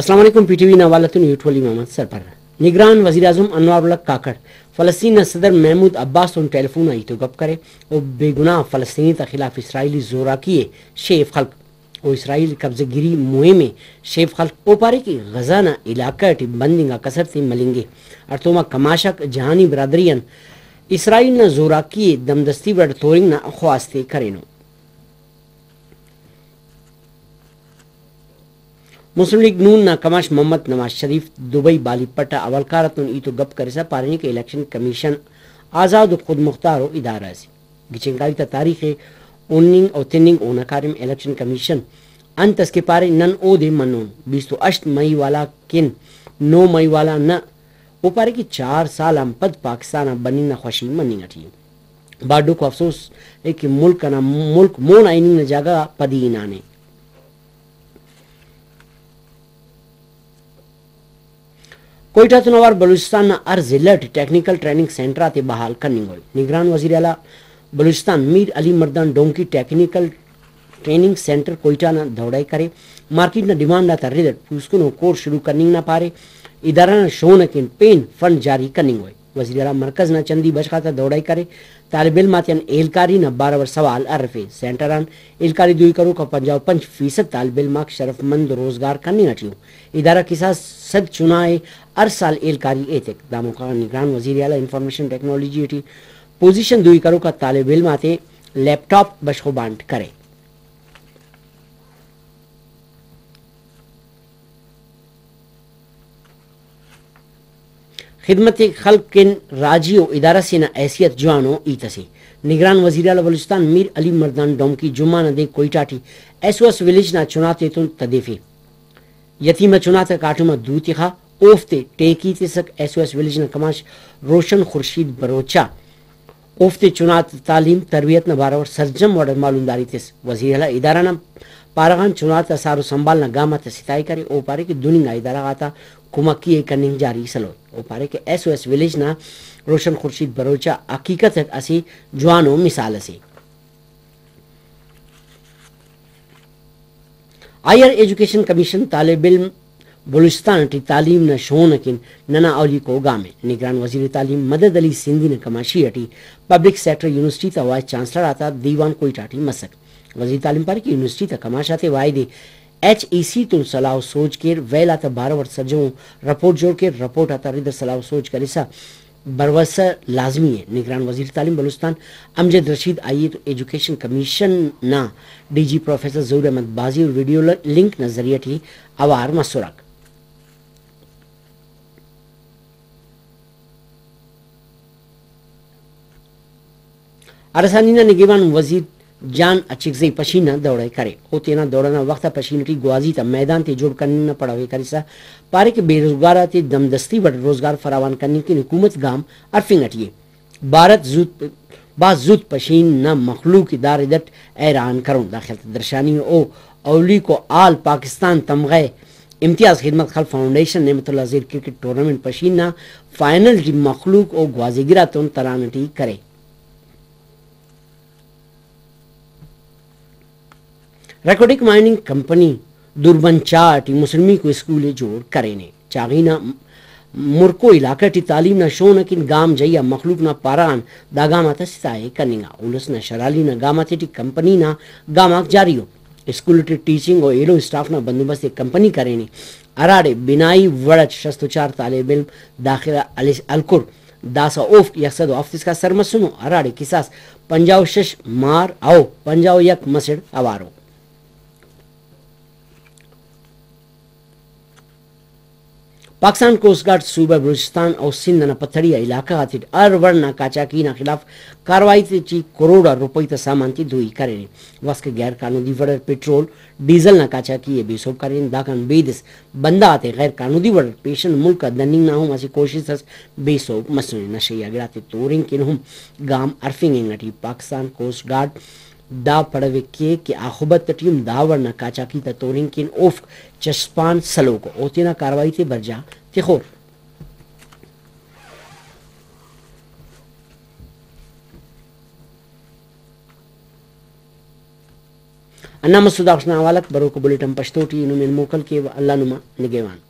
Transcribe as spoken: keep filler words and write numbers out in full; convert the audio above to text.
السلام علیکم، P T V نا حوالہ تون یوٹولی محمد سرپر۔ نگران وزیراعظم انوار الحق کاکڑ فلسطین نا صدر محمود عباس تون ٹیلیفون آ ہیت و گپ کرے و بے گناہ فلسطینی تا خلاف اسرائیلی زوراکی ءِ شیف خلک و اسرائیل قبضہ گیری مہم ءِ شیف خلک۔ او پارے کہ غزہ نا علاقہ ٹی بند انگا کسر تے ملنگے، ہڑتوما کماش آک جہانی برادری آن اسرائیل نا زوراکی ءِ دمدستی وڑ تورنگ نا خواست ءِ کرینو۔ مسلم لیگ نون نا کماش محمد نواز شریف دبئی بالی پٹ آ حوالکار آتون ہیت و گپ کرسا پارینے کہ الیکشن کمیشن آزاد و خودمختار و ادارہ اسے، گچین کاری تا تاریخ ءِ ہننگ و تننگ اونا کاریم۔ الیکشن کمیشن انت اس کہ پارے، نن اودے منون، بیست و ہشت مئی والا کن نو مئی والا نہ۔ او پارے کہ چار سال آن پد پاکستان آ بننگ نا خوشی مننگ اٹی ءِ۔ باڈوک و افسوس ءِ کہ ملک انا، ملک مون آ ہننگ نا جاگہ غا پدی ہنانے۔ کوئٹہ تون اوار بلوچستان نا ہر ضلع ٹی ٹیکنیکل ٹریننگ سینٹر آتے بحال کننگوئے۔ نگران وزیر اعلی Balochistan Mir Ali Mardan Domki technical training centre Quetta نا دورہ ءِ کرے۔ مارکیٹ نا ڈیمانڈ آتا رد اٹ پوسکنو کورس شروع کننگ نا پارے۔ ادارہ نا شون اکن پین فنڈ جاری کننگوئے۔ وزیر اعلی مرکز نا چندی بشخ آتا دورہ ءِ کرے۔ طالب علم آتیان ہیلکاری نا بارو اٹ سوال ہرفے۔ سینٹر آن ہیلکاری دوئی کروک آ پنجاہ و پنچ فیصد طالب علم آک شرف مند روزگار کننگ اٹی ءُ۔ ادارہ کساس سد چنا ءِ ہر سال ہیلکاری ایتک۔ دا موقع غا نگران وزیر اعلی انفارمیشن ٹیکنالوجی ٹی پوزیشن دوئی کروک آ طالب علم آتے لیپ ٹاپ بشخ و بانٹ کرے۔ خدمت خلق کن راجی و ادارہ سے نا حیثیت جوانو ہیت اسے۔ نگران وزیر اعلی بلوچستان میر علی مردان ڈومکی جمعہ نا دے Quetta T S O S village نا چناتے تون تدیفے۔ یتیم ءِ چناتا کاٹم آ دو تخا، اوفتے ٹیکی تسک۔ ایس او ایس ولیج نا کماش روشن خورشید بروچا اوفتے چنا تعلیم تربیت نا بارو اٹ سرجم وڑ اٹ معلومداری تس۔ وزیر اعلی ادارہ نا پارہ غان چنا تا سار و سنبھال نا گام آتا ستائے کرے۔ او پارے کہ دن انگا ادارہ غاتا کمکی ءِ کننگ جاری سلوئے۔ او پارے کہ ایس او ایس ولیج نا روشن خورشید بروچا حقیقت اٹ اسہ جوانو مثال اسے۔ ہائیر ایجوکیشن کمیشن طالب علم بلوچستان ٹی تعلیم نا شون اکن ننا اولیکو گام ءِ۔ نگران وزیر تعلیم مدد علی سندھی نا کماشی ٹی پبلک سیکٹر یونیورسٹی تا وائس چانسلر آتا دیوان کوئٹہ ٹی مسک۔ وزیر تعلیم پارے کہ یونیورسٹی تا کماش آتے واحد ایچ ای سی تون سلاہ و سوج کیر، ویل آتا بارو اٹ سجہو رپورٹ جوڑ کیر، رپورٹ آتا رد اٹ سلاہ و سوج کرسا بھروسہ لازمی ءِ۔ نگران وزیر تعلیم بلوچستان امجد رشید آئی ءِ تو ایجوکیشن کمیشن نا ڈی جی پروفیسر ظہور احمد بازی و ویڈیو ل-، لنک نا ذریعہ ٹی اوار مسرک۔ ہراسانی نا نگہبان وزیر جان اچکزئی پشین نا دورہ ءِ کرے۔ او تینا دورہ نا وخت آ پشین ٹی گوازی تا میدان تے جوڑ کننگ نا پڑو ءِ کرسا پارے کہ بے روزگار آتے دمدستی وڑ روزگار فراوان کننگ کن حکومت گام ہرفنگ اٹی ءِ۔ بھارت زوت، بھاز زوت پشین نا مخلوق ءِ دا رد اٹ حیران کرون۔ دا خیال تا درشانی ءِ او اولیکو آل پاکستان تمغہ امتیاز خدمت خلق فاؤنڈیشن نعمت اللہ زیر کرکٹ ٹورنامنٹ پشین نا فائنل ٹی مخلوق و گوازی گراتون تران ٹی کرے۔ ریکوڈک مائننگ کمپنی دوربن چاہ ٹی مسلمیکو اسکول ءِ جوڑ کرینے۔ چاغی نا مرکو علاقہ ٹی تعلیم نا شون اکن گام جائی آ مخلوق نا پارہ غان دا گام آتا ستائے کننگا۔ الس نا شرالی نا گام آتیٹی کمپنی نا گام آک جاری ءُ۔ اسکول ٹی ٹیچنگ و ایلو اسٹاف نا بندوبست ءِ کمپنی کرینے، ہراڑے بنائی وڑ اٹ شست و چار طالب علم داخلہ ہلس-، ہلکر۔ داسہ اوفک یک سد و ہفت اسکا سر مسنو، ہراڑے کساس پنجاہ و شش مار و پنجاہ و یک مسڑ اوارو۔ پاکستان کوسٹ گارڈ صوبہ بلوچستان و سندھ نا پتھڑی آ علاقہ غاتیٹ ہر وڑ نا قاچاقی نا خلاف کارروائی تے ٹی کروڑ آ روپئی تا سامان تے دوئی کرینے۔ واسکہ غیر قانونی وڑ اٹ پٹرول، ڈیزل نا قاچاقی ءِ بے سہب کرین۔ داکان بیدس بندغ آتے غیر قانونی وڑ اٹ پیشن ملک آ دننگ نا ہم اسہ کوشست اس بے سہب مسنے۔ نشہ یا گڑاتے تورنگ کن ہم گام ہرفنگ انگ اٹی۔ پاکستان کوسٹ گارڈ دا پڑو ءِ کیک کہ آخبت اٹی ہم دا وڑ نا قاچاقی تا تورنگ کن اوفک چشپان سلوک ءُ، او تینا کارروائی تے برجا تخور۔ ہندا مسہ داخس نا حوالک بروکا بلیٹن پشتو ٹی نمے موکل کیوہ۔ اللہ نما نگہوان۔